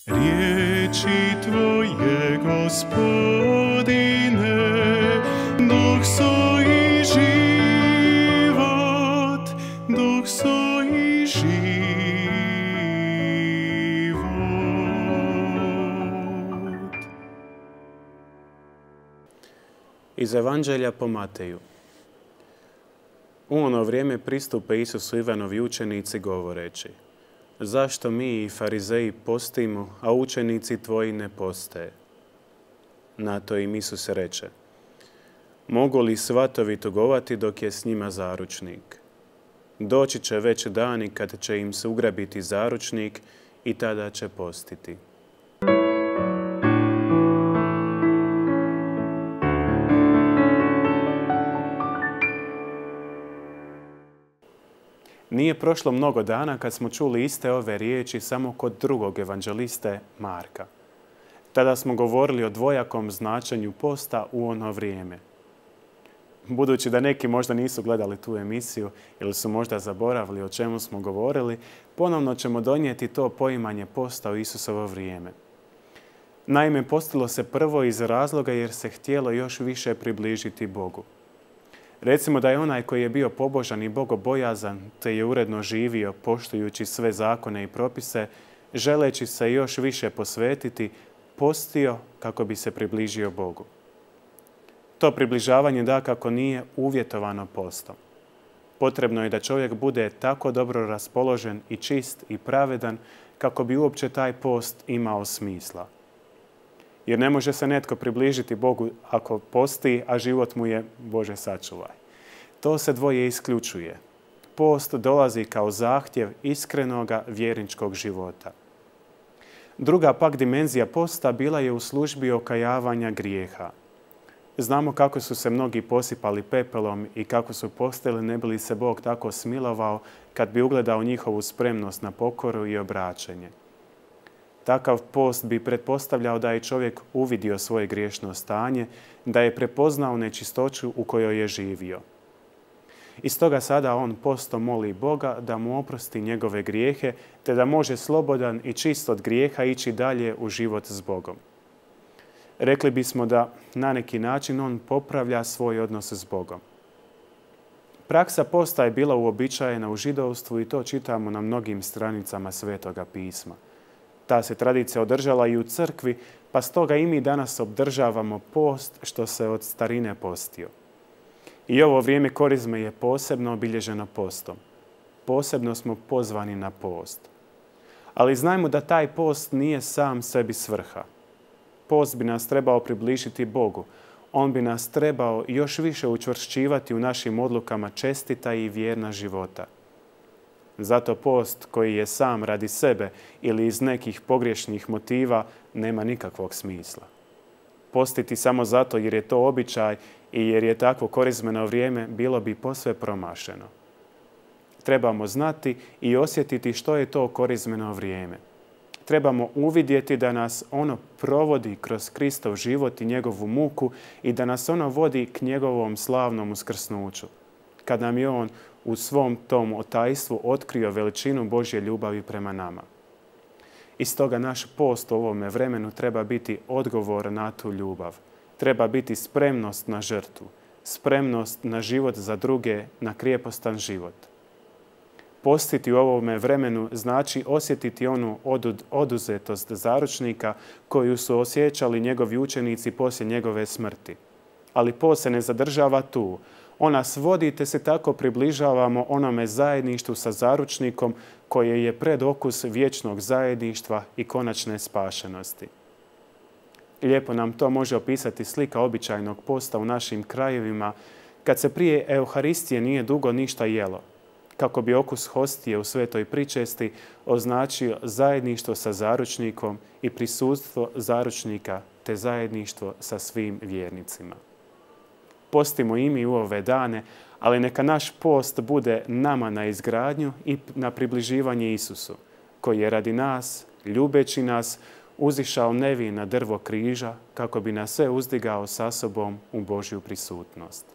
Riječi Tvoje, Gospodine, duh su i život, duh su i život. Iz Evanđelja po Mateju. U ono vrijeme pristupe Isusu Ivanovi učenici govoreći: zašto mi i farizeji postimo, a učenici tvoji ne poste? Na to im Isus reče: mogu li svatovi tugovati dok je s njima zaručnik? Doći će već dani kad će im se ugrabiti zaručnik i tada će postiti. Nije prošlo mnogo dana kad smo čuli iste ove riječi samo kod drugog evanđeliste Marka. Tada smo govorili o dvojakom značenju posta u ono vrijeme. Budući da neki možda nisu gledali tu emisiju ili su možda zaboravili o čemu smo govorili, ponovno ćemo donijeti to poimanje posta u Isusovo vrijeme. Naime, postilo se prvo iz razloga jer se htjelo još više približiti Bogu. Recimo da je onaj koji je bio pobožan i bogobojazan, te je uredno živio poštujući sve zakone i propise, želeći se još više posvetiti, postio kako bi se približio Bogu. To približavanje dakako nije uvjetovano postom. Potrebno je da čovjek bude tako dobro raspoložen i čist i pravedan kako bi uopće taj post imao smisla. Jer ne može se netko približiti Bogu ako posti, a život mu je Bože sačuvaj. To se dvoje isključuje. Post dolazi kao zahtjev iskrenoga vjerničkog života. Druga pak dimenzija posta bila je u službi okajavanja grijeha. Znamo kako su se mnogi posipali pepelom i kako su postili ne bi li se Bog tako smilovao kad bi ugledao njihovu spremnost na pokoru i obraćenje. Takav post bi pretpostavljao da je čovjek uvidio svoje griješno stanje, da je prepoznao nečistoću u kojoj je živio. I stoga sada on postom moli Boga da mu oprosti njegove grijehe, te da može slobodan i čist od grijeha ići dalje u život s Bogom. Rekli bismo da na neki način on popravlja svoj odnos s Bogom. Praksa posta je bila uobičajena u židovstvu i to čitamo na mnogim stranicama Svetoga pisma. Ta se tradicija održala i u crkvi, pa stoga i mi danas obdržavamo post što se od starine postio. I ovo vrijeme korizme je posebno obilježeno postom. Posebno smo pozvani na post. Ali znajmo da taj post nije sam sebi svrha. Post bi nas trebao približiti Bogu. On bi nas trebao još više učvršćivati u našim odlukama čestita i vjerna života. Zato post koji je sam radi sebe ili iz nekih pogrešnih motiva nema nikakvog smisla. Postiti samo zato jer je to običaj i jer je takvo korizmeno vrijeme bilo bi posve promašeno. Trebamo znati i osjetiti što je to korizmeno vrijeme. Trebamo uvidjeti da nas ono provodi kroz Kristov život i njegovu muku i da nas ono vodi k njegovom slavnom uskrsnuću, kad nam je on u svom tom otajstvu otkrio veličinu Božje ljubavi prema nama. I stoga naš post u ovome vremenu treba biti odgovor na tu ljubav. Treba biti spremnost na žrtvu, spremnost na život za druge, na krijepostan život. Postiti u ovome vremenu znači osjetiti onu oduzetost zaručnika koju su osjećali njegovi učenici poslije njegove smrti. Ali post se ne zadržava tu. On nas vodi te se tako približavamo onome zajedništvu sa zaručnikom koje je predokus vječnog zajedništva i konačne spašenosti. Lijepo nam to može opisati slika običajnog posta u našim krajevima kad se prije Euharistije nije dugo ništa jelo, kako bi okus hostije u svetoj pričesti označio zajedništvo sa zaručnikom i prisustvo zaručnika te zajedništvo sa svim vjernicima. Postimo i mi u ove dane, ali neka naš post bude nama na izgradnju i na približivanje Isusu, koji je radi nas, ljubeći nas, uzišao nevin na drvo križa kako bi nas sve uzdigao sa sobom u Božju prisutnost.